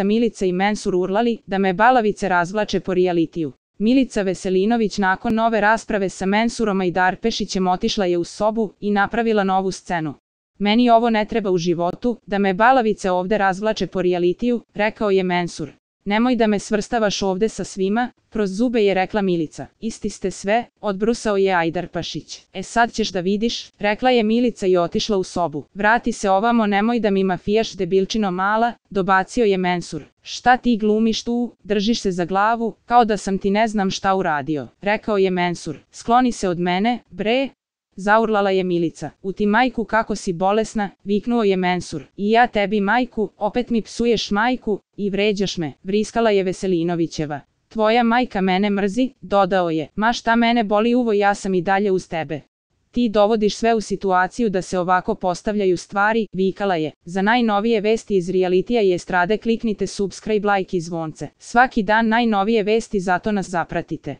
Milica i Mensur urlali da me balavice razvlače po rijalitiju. Milica Veselinović nakon nove rasprave sa Mensurom Ajdarpešićem otišla je u sobu i napravila novu scenu. Meni ovo ne treba u životu, da me balavice ovde razvlače po rijalitiju, rekao je Mensur. Nemoj da me svrstavaš ovde sa svima, kroz zube je rekla Milica. Isti ste sve, odbrusao je Ajdarpešić. Sad ćeš da vidiš, rekla je Milica i otišla u sobu. Vrati se ovamo, nemoj da mi mafijaš, debilčino mala, dobacio je Mensur. Šta ti glumiš tu, držiš se za glavu, kao da sam ti ne znam šta uradio, rekao je Mensur. Skloni se od mene, bre. Zaurlala je Milica. U ti majku kako si bolesna, viknuo je Mensur. I ja tebi majku, opet mi psuješ majku i vređaš me, vriskala je Veselinovićeva. Tvoja majka mene mrzi, dodao je. Ma šta mene boli uvo, ja sam i dalje uz tebe. Ti dovodiš sve u situaciju da se ovako postavljaju stvari, vikala je. Za najnovije vesti iz realitija i estrade kliknite subscribe, like i zvonce. Svaki dan najnovije vesti, zato nas zapratite.